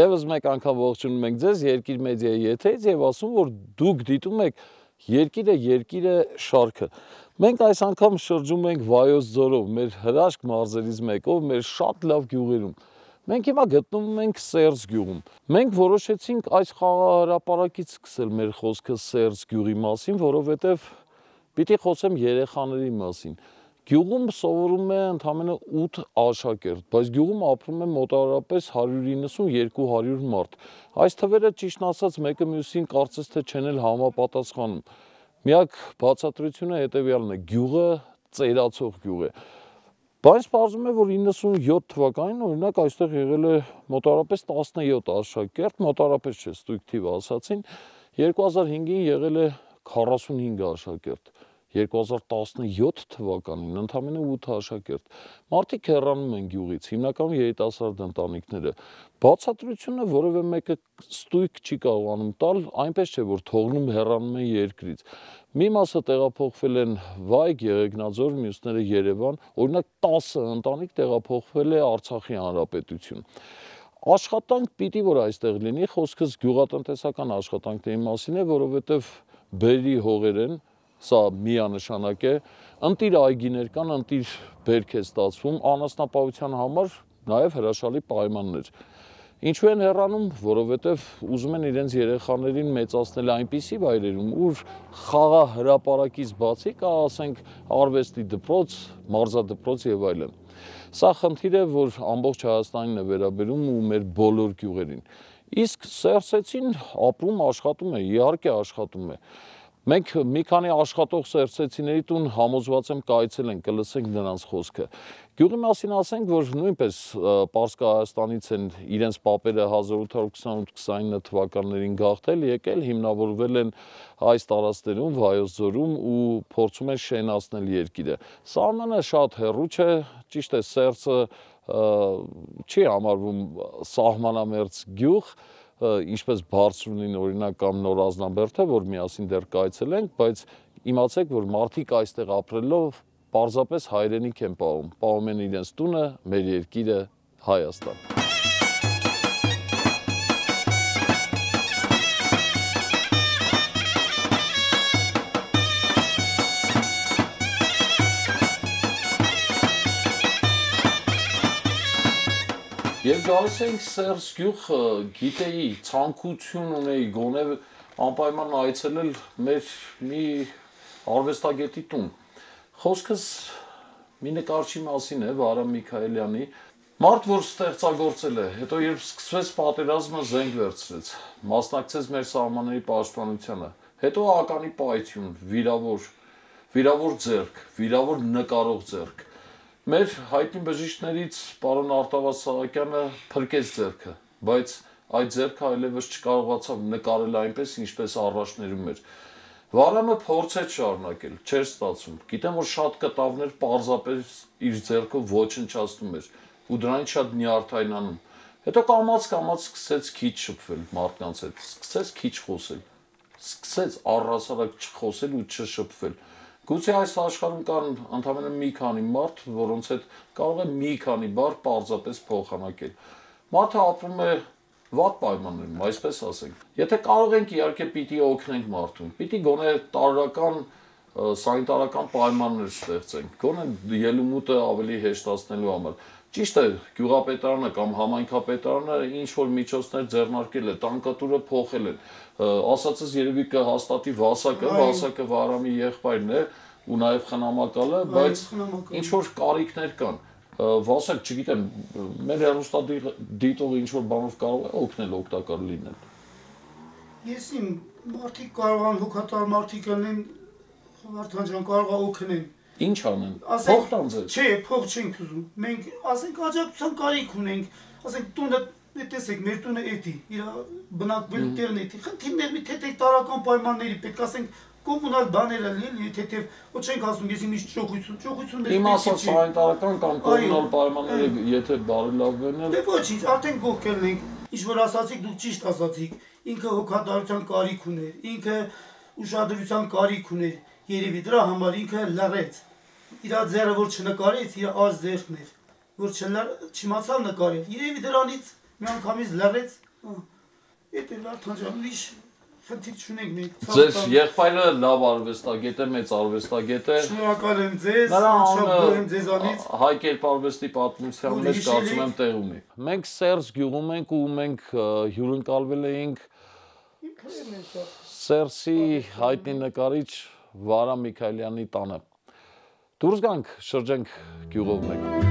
Եվս մեկ անգամ ողջունում ենք ձեզ Երկիր մեդիայի եթերից եւ ասում, որ դուք դիտում եք Երկիրը շարքը։ Մենք այս անգամ շրջում ենք Վայոց ձորով, մեր հրաշք մարզերից մեկով, մեր շատ լավ գյուղերում։ Մենք հիմա գտնվում ենք Սերձ գյուղում։ Մենք որոշեցինք այս խաղահրապարակից սկսել մեր խոսքը Սերձ գյուղի մասին, որովհետեւ պիտի խոսեմ երեխաների մասին։ Գյուղում սովորում է ընդամենը 8 աշակերտ, բայց գյուղում ապրում է մոտավորապես 190-200 մարդ։ Այս թվերը ճիշտն ասած մեկը մյուսին կարծես թե չեն էլ համապատասխանում։ Միակ բացատրությունը հետևյալն է՝ գյուղը ծերացող գյուղ է։ Բայց պարզվում է, որ 97 թվականին օրինակ այստեղ եղել է մոտավորապես 17 աշակերտ, մոտավորապես չէ, ստույգ թիվ ասացին, 2005-ին եղել է 45 աշակերտ։ 2017 թվականին ընդամենը 8 աշակերտ։ Մարդիկ հեռանում են գյուղից, հիմնականում երիտասարդ ընտանիքները։ Բացատրությունը որևէ մեկը ստույգ չի կարողանում տալ, այնպես չէ, որ թողնում հեռանում են երկրից։ Մի մասը տեղափոխվել են Վայք, Եղեգնաձոր, մյուսները Երևան, օրինակ 10 ընտանիք տեղափոխվել է Արցախի Հանրապետություն։ Աշխատանք պիտի որ այստեղ լինի, խոսքս գյուղատնտեսական աշխատանքների մասին է, որովհետև բերրի հողեր են, սա միանշանակ է, ընտիր այգիներ կան, ընտիր բերք է ստացվում, անասնապահության համար նաև հրաշալի պայմաններ։ Ինչու են հեռանում, որովհետև ուզում են իրենց երեխաներին մեծացնել այնպիսի վայրերում, ուր խաղահրապարակից բացի կա, ասենք, արվեստի դպրոց, մարզադպրոց եւ այլն։ Սա խնդիր է, որ ամբողջ Հայաստանին է վերաբերում ու մեր բոլոր գյուղերին։ Իսկ սերսեցին ապրում, աշխատում է, իհարկե աշխատում է։ Մենք մի քանի աշխատող սերսեցիների տուն համոզված եմ կայցելենք, կլսենք նրանց խոսքը։ Գյուղի մասին ասենք, որ նույնպես Պարսկա Հայաստանից են իրենց պապերը 1828-29 թվականներին գաղթել, եկել, հիմնավորվել են այս տարածքներում, Վայոց ձորում ու փորձում են շենացնել երկիրը։ Սահմանը շատ հեռու չէ, ճիշտ է, Սերսը չի համարվում սահմանամերձ գյուղ, ինչպես Բարձրունին օրինակ կամ Նոր Ազնաբերդը, որ միասին դեռ կայցելենք, բայց իմացեք, որ մարդիկ այստեղ ապրելով պարզապես հայրենիք են պահում են իրենց տունը, մեր երկիրը Հայաստան։ Եվ գալիս ենք Սերձ գյուղ, գիտեի, ցանկություն ունեի գոնե անպայման այցելել մեր մի արվեստագետի տուն։ Խոսքս մի նկարչի մասին է, Վարամ Միքայելյանի, մարդ, որ ստեղծագործել է, հետո երբ սկսվեց պատերազմը, զենք վերցրեց, մասնակցեց մեր սահմանների պաշտպանությանը, հետո ականի պայթյուն, վիրավոր ձեռք, վիրավոր նկարող ձեռք։ Մեր հայտնի բժիշկներից պարոն Արտավազդ Սահակյանը փրկեց ձեռքը, բայց այդ ձեռքը այլևս չկարողացավ նկարել այնպես, ինչպես առաջներում էր։ Վարամը փորձեց շարունակել, չէր ստացվում։ Գիտեմ, որ շատ կտավներ պարզապես իր ձեռքով ոչնչացնում էր ու դրանից շատ նյարդայնանում։ Հետո կամաց-կամաց սկսեց քիչ շփվել մարդկանց հետ, սկսեց քիչ խոսել, սկսեց առհասարակ չխոսել ու չշփվել։ Գուցե այս աշխարհում կան ընդամենը մի քանի մարդ, որոնց հետ կարող է մի քանի բառ պարզապես փոխանակել։ Մարդը ապրում է վատ պայմաններում, այսպես ասենք։ Եթե կարող ենք, իհարկե պիտի օգնենք մարդուն, պիտի գոնե տարրական, սանիտարական պայմաններ ստեղծենք, գոնե ելումուտը ավելի հեշտացնելու համար։ Ճիշտ է, գյուղապետարանը կամ համայնքապետարանը ինչ-որ միջոցներ ձեռնարկել է, տանկատուրը փոխել են։ Ասածս երևի կհաստատի Վասակը Վարամի եղբայրն է ու նաև խնամակալը, բայց ինչ-որ կարիքներ կան։ Վասակ, չգիտեմ, մեր հեռուստադիտողը ինչ-որ բանով կարող է օգնել, օգտակար լինել։ Ես իմ մարդիկ կարող են հոգատար մարդիկ լինեն, Վարդան ջան, կարող է օգնեն։ Ինչ անեն։ Փող տան ձեզ։ Չէ, փող չենք ուզում։ Մենք ասենք աջակցության կարիք ունենք, ասենք տունը, տեսեք, մեր տունը էդի, իր բնակվելու տեղն էդի։ Խնդիրներ մի թեթև տարական պայմանների պետք ասենք կոմունալ բաները լինի, թեթև, ոչ չենք ասում, ես միշտ ճոխություններ։ Իմ ասած սանիտարական կամ կոմունալ պայմանները եթե բարելավվեն, դե ոչինչ, արդեն գոհ ենք։ Ինչ որ ասացիք, դուք ճիշտ ասացիք։ Ինքը հոգատարության կարիք ուներ, ինքը ուշադրության կարիք ուներ։ Երևի դրա համար ինքը լռեց։ Իր ձեռը որ չնկարեց, իր ազ ձեռքն էր, որ չիմացավ նկարել։ Երևի դրանից միանգամից լռեց Էդ էլ Վարդան ջան, ուրիշ խնդիր չունենք մենք։ Ձեզ եղբայրը լավ արվեստագետ է, մեծ արվեստագետ է։ Շնորհակալ եմ ձեզ, Նրա շատ գոհ եմ ձեզանից։ Հայ կերպարվեստի պատմության մեջ կարծում եմ տեղ ունի։ Մենք Սերժ գյուղում ենք ու մենք հյուրընկալվել էինք Սերժի հայտնի նկարիչ Վարա Միքայելյանի տանը։ Դուրս գանք, շրջենք գյուղով մեկ։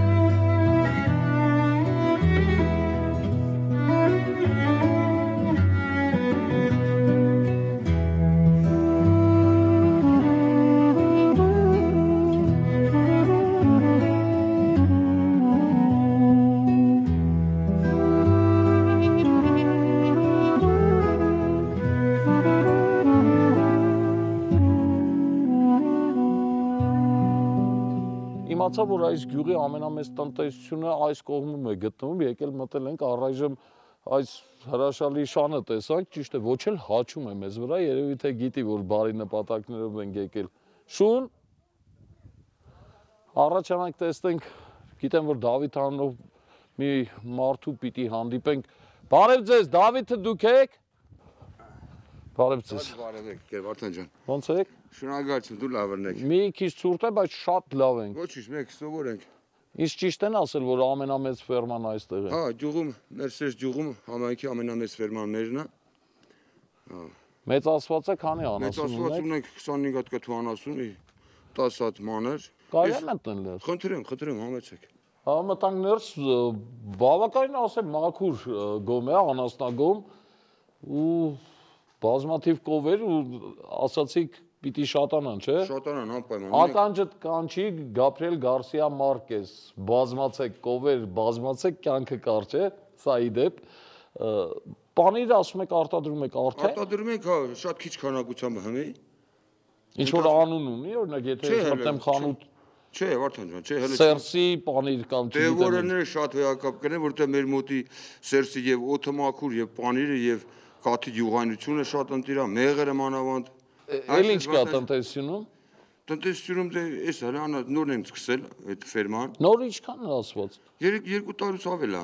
Իմացա, որ այս գյուղի ամենամեծ տնտեսությունը այս կողմում է գտնվում, եկել մտել ենք առայժմ այս հրաշալի շանը տեսանք, ճիշտ է, ոչ էլ հաչում է մեզ վրա, երևի թե գիտի, որ բարի նպատակներով ենք եկել։ Շուն, առաջանանք տեսնենք, գիտեմ, որ Դավիթ անունով մի մարդու պիտի հանդիպենք։ Բարև ձեզ, Դավիթը դուք եք։ Բարև ձեզ։ Բարև եք, Վարդան ջան։ Ոնց եք։ Շնորհակալություն, դու լավն եք։ Մի քիչ ցուրտ է, բայց շատ լավ ենք։ Ոչինչ, մենք սովոր ենք։ Ինչ ճիշտ են ասել, որ ամենամեծ ֆերման այստեղ է։ Հա, գյուղում, մեր Սերժ գյուղում համայնքի ամենամեծ ֆերմաներն է։ Հա։ Մեծացված է, քանի անասուն Մեծացված ունենք 25 հատ կթուանասուն, 10 հատ մանր։ Կարելի է մտնել ներս։ Խնդրեմ, համեցեք։ Հա մտանք ներս, բավականին ասեմ մաքուր գոմ է, անասնագոմ ու բազմաթիվ կովեր ու ասացիք պիտի շատանան, չէ։ Շատանան անպայման։ Ականջդ կանչի Գաբրիել Գարսիա Մարկես, բազմացեք կովեր, բազմացեք կյանքը կարճ է, սա ի դեպ։ Պանիր ասում եք արտադրում եք արդեն։ Արտադրում ենք, հա, շատ քիչ քանակությամբ հնի։ Ինչ որ անուն ունի, օրինակ եթե ես մտեմ խանութ Չէ, Վարդան ջան, չէ, հələ Սերսի պանիր կամ չգիտեմ։ Դե որները շատ հոյակապ կնեն, որտեղ մեր մոտի Սերսի եւ օդը մաքուր եւ պանիրը եւ կաթի յուղանությունը շատ ընտիր է, մեղրը մանավանդ։ Էլ ինչ կա տնտեսությունում։ Տնտեսությունում դե էս հələ նորն եմ սկսել այդ ֆերման։ Նոր ինչքան է ասված։ 2 տարուց ավել է։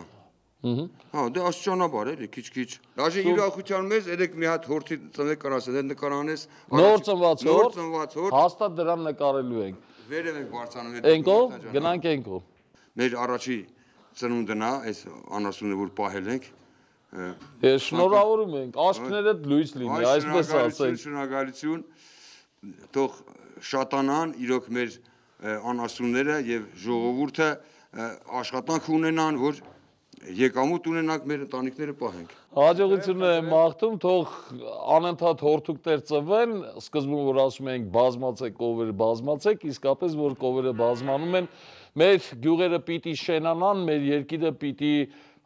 Հա, դե աստիճանաբար էլի, քիչ-քիչ։ Դաժե իրախության մեզ երեք մի հատ հորթի ծնվեք կարասել, այդ նկարանես։ Նոր ծնված հորթ։ Հաստատ դրան նկարելու ենք։ Վերև ենք բարձանում այդ։ Ենկո, գնանք ենկո։ Մեր առաջի ծնունդն է, այս անասունը որ պահել ենք։ Շնորհավորում ենք, աշկներդ լույս լինի, այսպես ասենք։ Շնորհակալություն, թող շատանան իրոք մեր անասունները եւ ժողովուրդը աշխատանք ունենան, որ եկամուտ ունենանք, մեր ընտանիքները պահենք։ Հաջողություններ եմ մաղթում, թող անընդհատ հորթուկներ ծնվեն, սկզբում որ ասում ենք բազմացեք կովերը բազմացեք, իսկապես որ կովերը բազմանում են, մեր գյուղերը պիտի շենանան, մեր երկիրը պիտի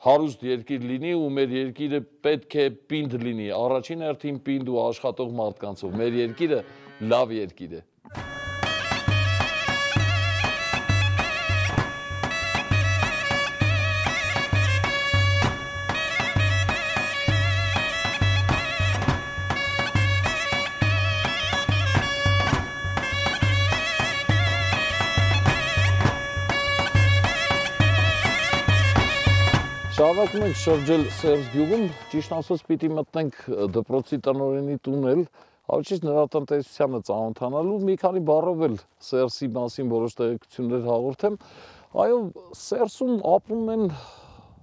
հարուստ երկիր լինի ու մեր երկիրը պետք է պինդ լինի, առաջին հերթին պինդ ու աշխատող մարդկանցով, մեր երկիրը լավ երկիր է։ Շարունակում ենք շրջել Սերժ գյուղում, ճիշտ ասած պիտի մտնենք դպրոցի տնօրենի տուն էլ, ավելի նրա տնտեսությանը ծանոթանալու, մի քանի բառով էլ Սերժի մասին որոշ տեղեկություններ հաղորդեմ։ Այո, Սերժում ապրում են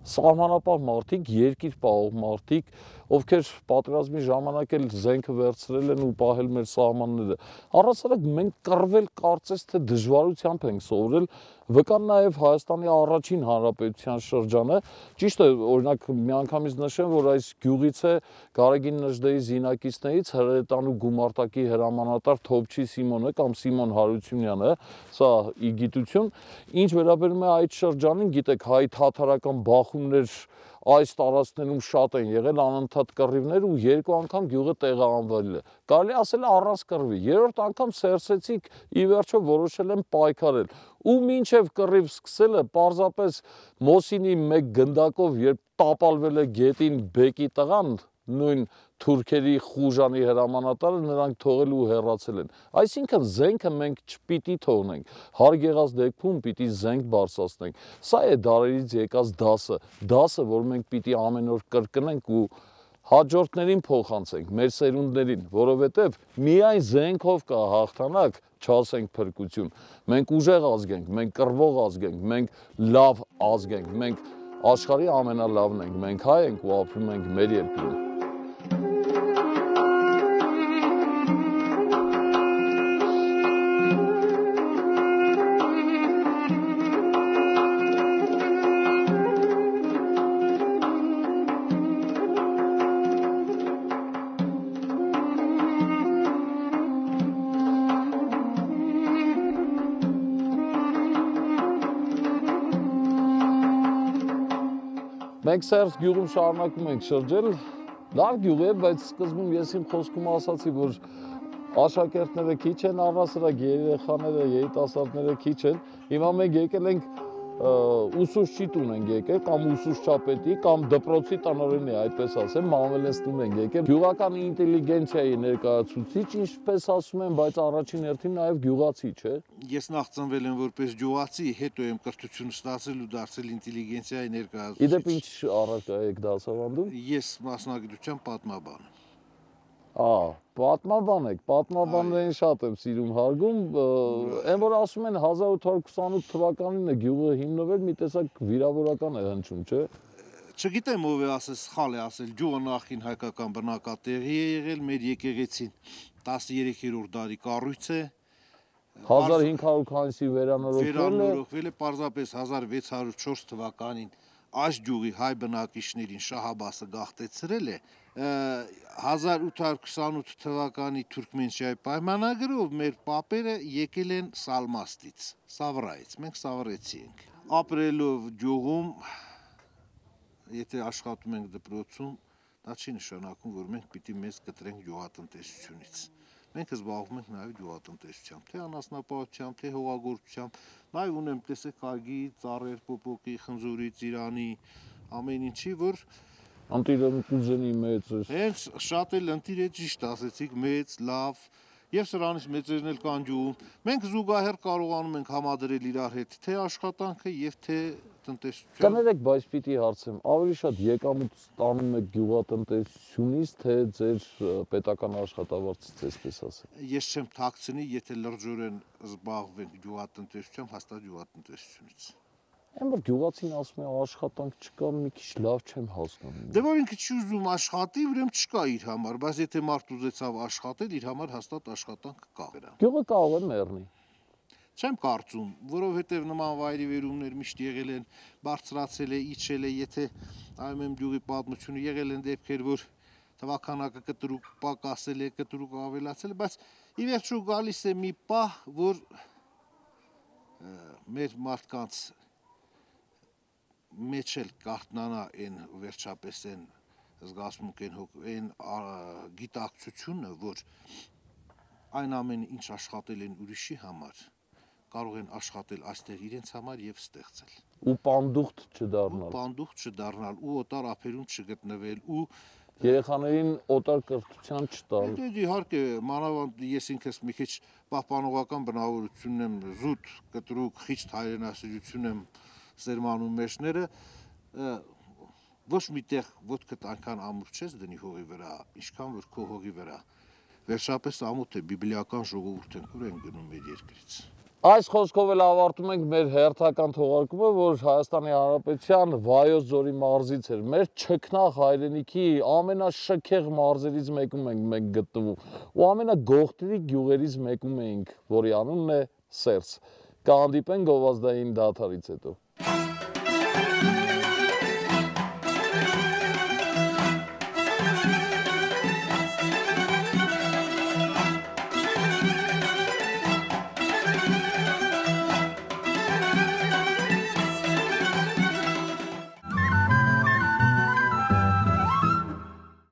սահմանապահ մարդիկ, երկիր պահող մարդիկ, ովքեր պատերազմի ժամանակ էլ զենքը վերցրել են ու պահել մեր սահմանները։ Առասարակ մենք կռվել կարծես թե դժվարությամբ ենք սովորել, վկան նաև Հայաստանի առաջին հանրապետության շրջանը։ Ճիշտ է, օրինակ միանգամից նշեմ, որ այս գյուղից է Գարեգին Նժդեի զինակիցներից հրետանու գումարտակի հրամանատար Թոփչի Սիմոնը կամ Սիմոն Հարությունյանը, սա ի գիտություն։ Ինչ վերաբերում է այդ շրջանին, գիտեք, հայ-թաթարական բախումներ այս տարածքներում շատ են եղել, անընդհատ կռիվներ ու երկու անգամ գյուղը տեղահանվել է։ Կարելի ասել առանց կռվի։ Երրորդ անգամ Սերսեցիք ի վերջո որոշել են պայքարել։ Ու մինչև կռիվ սկսելը պարզապես Մոսինի մեկ գնդակով երբ տապալվել է գետին բեկի տղան, նույն թուրքերի խուժանի հրամանատարը նրանք թողել ու հեռացել են։ Այսինքն զենքը մենք չպիտի թողնենք, հարկ եղած դեպքում պիտի զենք բարձրացնենք։ Սա է դարերից եկած դասը, որ մենք պիտի ամեն օր կրկնենք ու հաջորդներին փոխանցենք, մեր սերունդներին, որովհետև միայն զենքով կա հաղթանակ, չասենք փրկություն։ Մենք ուժեղ ազգ ենք, մենք կռվող ազգ ենք, մենք լավ ազգ ենք, մենք աշխարհի ամենալավն ենք, մենք հայ ենք ու ապրում ենք մեր երկրում։ Մենք Սերս գյուղում շարունակում ենք շրջել, լավ գյուղ է, բայց սկզբում ես իմ խոսքում ասացի, որ աշակերտները քիչ են, առհասարակ երեխաները, երիտասարդները քիչ են։ Հիմա մենք եկել ենք ուսուցչի տուն ենք եկել, կամ ուսուցչապետի, կամ դպրոցի տնօրենի, այդպես ասեմ, Մանվելենս տուն ենք եկել։ Գյուղական ինտելիգենցիայի ներկայացուցիչ, ինչպես ասում են, բայց առաջին հերթին նաև գյուղացի, չէ։ Ես նախ ծնվել եմ որպես գյուղացի, հետո եմ կրթություն ստացել ու դարձել ինտելիգենցիայի ներկայացուցիչ։ Իդեպ ինչ առարկա եք դասավանդում։ Ես մասնագիտությամբ պատմաբան եմ։ Պատմաբան եք, պատմաբաններին շատ եմ սիրում հարգում, այն որ ասում են 1828 թվականին է գյուղը հիմնվել, մի տեսակ վիրավորական է հնչում, չէ։ Չգիտեմ ով է ասել, սխալ է ասել, գյուղը նախին հայկական բնակատեղի է եղել, մեր եկեղեցին 13-րդ դարի կառույց է։ 1500 քանիսի վերանորոգվել է պարզապես 1604 թվականին այս գյուղի հայ բնակիչներին Շահ-Աբբասը գաղթեցրել է 1828 թվականի Թուրքմենչիայի պայմանագրով մեր պապերը եկել են Սալմաստից, Սավրայից, մենք Սավրեցի ենք։ Ապրելով գյուղում, եթե աշխատում ենք դպրոցում, դա չի նշանակում, որ մենք պիտի մեզ կտրենք գյուղատնտեսությունից։ Մենք զբաղվում ենք նաև գյուղատնտեսությամբ, թե անասնապահությամբ, թե հողագործությամբ, նաև ունեմ տեսեք այգի, ծառեր, պոպոկի, խնձորի, ծիրանի, ամեն ինչի, որ Անտիրը կուզենի մեծ է։ Հենց շատ էլ ընտիր է ճիշտ ասեցիք, մեծ, լավ, եւ սրանից մեծերն էլ կան գյուղում։ Մենք զուգահեռ կարողանում ենք համադրել իրար հետ թե աշխատանքը եւ թե տնտեսությունը։ Կներեք, բայց պիտի հարցեմ, ավելի շատ եկամուտ ստանում եք գյուղատնտեսությունից, թե ձեր պետական աշխատավարձից, այսպես ասեմ։ Ես չեմ թաքցնի, եթե լրջորեն զբաղվենք գյուղատնտեսությամբ, հաստատ գյուղատնտեսությունից։ Այն որ գյուղացին ասում է աշխատանք չկա, մի քիչ լավ չեմ հասկանում։ Դե որ ինքը չի ուզում աշխատի, ուրեմն չկա իր համար, բայց եթե մարդ ուզեցավ աշխատել, իր համար հաստատ աշխատանք կա։ Գյուղը կարող է մեռնի։ Չեմ կարծում, որովհետև նման վայրիվերումներ միշտ եղել են, բարձրացել է, իջել է, եթե այմեմ գյուղի պատմությունը եղել են դեպքեր, որ թվականակը կտրուկ պակասել է, կտրուկ ավելացել է, բայց ի վերջո գալիս է մի պահ, որ մեր մարդկանց մեջ էլ կարտնանա այն վերջապես այն զգացմունք, այն գիտակցությունը, որ այն ամեն ինչ աշխատել են ուրիշի համար, կարող են աշխատել այստեղ իրենց համար եւ ստեղծել։ Ու պանդուխտ չդառնալ։ Պանդուխտ չդառնալ ու օտար ափերում չգտնվել ու երեխաներին օտար կրթության չտալ։ Դե իհարկե, մանավանդ ես ինքս մի քիչ պահպանողական բնավորություն եմ, զուտ, կտրուկ, խիճ հայրենասիրություն եմ սերմանում մեջները, ոչ միտեղ ոտքդ այնքան ամուր չես դնի հողի վրա, ինչքան որ քո հողի վրա։ Վերջապես ամոթ է, բիբլիական ժողովուրդ ենք, ուր ենք գնում մեր երկրից։ Այս խոսքով էլ ավարտում ենք մեր հերթական թողարկումը, որ Հայաստանի Հանրապետության Վայոց ձորի մարզից էր։ Մեր չքնաղ հայրենիքի ամենաշքեղ մարզերից մեկում ենք մենք գտնվում ու ամենագողտրիկ գյուղերից մեկում էինք, որի անունն է Սերս։ Կհանդիպենք գովազդային դադարից հետո։